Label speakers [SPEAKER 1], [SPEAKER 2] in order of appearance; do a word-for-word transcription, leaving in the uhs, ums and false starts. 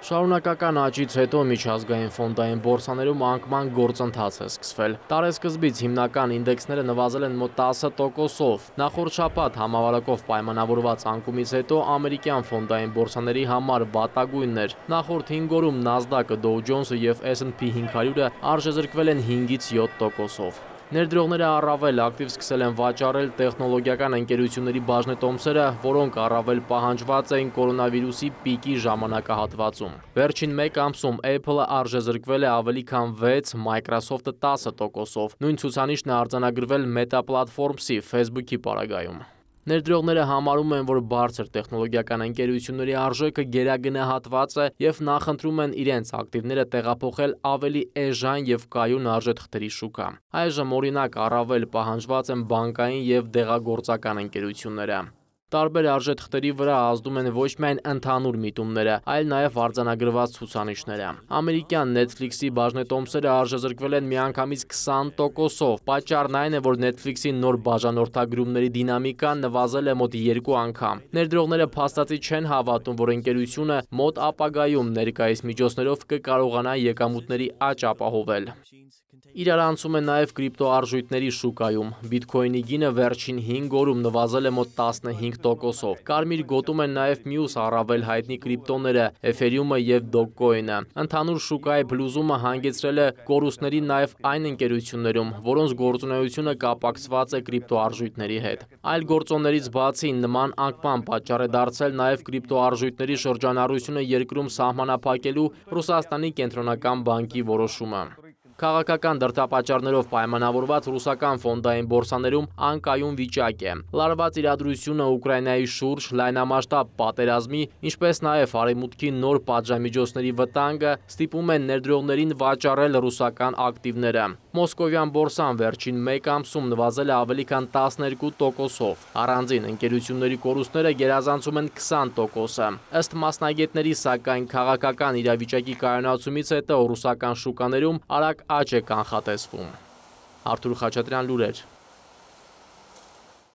[SPEAKER 1] Շարունակական աճից հետո միջազգային ֆոնդային բորսաներում անկման գործընթաց է սկսվել։ Տարեսկզբից հիմնական ինդեքսները նվազել են մոտ տասը տոկոսով։ Նախորդ շաբաթ համավարակով պայմանավորված անկումից հետո ամերիկյան ֆոնդային բորսաների համար վատագույնն էր։ Նախորդ հինգ օրում NASDAQ-ը, Dow Jones-ը և S and P հինգ հարյուրը արժեզրկվել են հինգից յոթ տոկոսով։ Ներդրողները առավել ակտիվ սկսել են վաճառել տեխնոլոգիական ընկերությունների բաժնետոմսերը, որոնք առավել պահանջված էին կորոնավիրուսի պիկի ժամանակահատվածում։ Վերջին մեկ ամսում Apple-ը արժեզրկվել է ավելի քան վեց, Microsoft-ը տասը տոկոսով։ Նույն ցուցանիշն է արձանագրվել Meta Platforms-ի Facebook-ի պարագայում։ Ներդրողները համարում են, որ բարձր տեխնոլոգիական ընկերությունների արժեքը գերագնահատված է և նախընտրում են իրենց ակտիվները տեղափոխել ավելի էժան և կայուն արժեթղթերի շուկա։ Այժմ օրինակ առավել պահանջված են բանկային և դեղագործական ընկերությունները։ Տարբեր արժեթղթերի վրա ազդում են ոչ միայն ընդհանուր միտումները, այլ նաև արձանագրված ցուցանիշները։ Ամերիկյան Netflix-ի բաժնետոմսերը արժեզրկվել են միանգամից քսան տոկոսով։ Պատճառն այն է, որ Netflix-ի նոր բաժանորդագրումների դինամիկան նվազել է մոտ երկու անգամ։ Ներդրողները փաստացի չեն հավատում, որ ընկերությունը մոտ ապագայում ներկայիս միջոցներով կկարողանա եկամուտների աճ ապահովել։ Իրարանցում է նաև կրիպտոարժույթների շուկայում։ Բիտքոյնի գինը վերջին հինգ օրում նվազել է մոտ տասնհինգ տոկոսով։ Կարմիր գոտում են նաև մյուս առավել հայտնի կրիպտոները՝ Էթերիումը և Dogecoin-ը։ Ընդհանուր շուկայի փլուզումը հանգեցրել է կորուստների նաև այն ընկերություններում, որոնց գործունեությունը կապակցված է կրիպտոարժույթների հետ։ Այլ գործոններից բացի, նման անկման պատճառ է դարձել նաև կրիպտոարժույթների շրջանառությունը երկրում սահմանափակելու Ռուսաստանի կենտրոնական բանկի որոշումը։ Քաղաքական դրդապատճառներով պայմանավորված ռուսական ֆոնդային բորսաներում անկայուն վիճակ է։ Լարված իրադրությունը Ուկրաինայի շուրջ, լայնամասշտաբ պատերազմի, ինչպես նաև Արևմուտքի նոր պատժամիջոցների վտանգը ստիպում են ներդրողներին վաճառել ռուսական ակտիվները։ Մոսկովյան բորսան վերջին մեկ ամսում նվազել է ավելի քան տասներկու տոկոսով։ Առանձին ընկերությունների կորուստները գերազանցում են քսան տոկոսը։ Ըստ մասնագետների, սակայն, քաղաքական իրավիճակի կայունացումից հետո ռուսական շուկաներում արագ աճ է կանխատեսվում։ Արթուր Խաչատրյան, լուրեր։